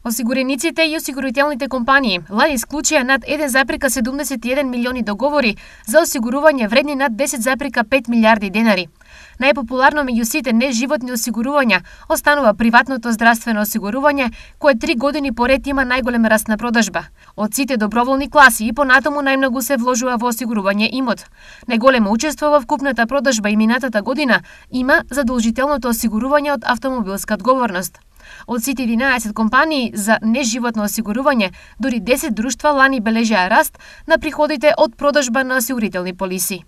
Осигурениците и осигурителните компании лани исклучија над 1,71 милиони договори за осигурување вредни над 10,5 милиарди денари. Најпопуларно меѓу сите неживотни осигурувања останува приватното здравствено осигурување, кое 3 години поред има најголем раст на продажба. Од сите доброволни класи и понатаму најмногу се вложува во осигурување имот. Најголемо учество во вкупната продажба и минатата година има задолжителното осигурување од автомобилска одговорност. Од сите 11 компании за неживотно осигурување, дури 10 друштва лани бележеа раст на приходите од продажба на осигурителни полиси.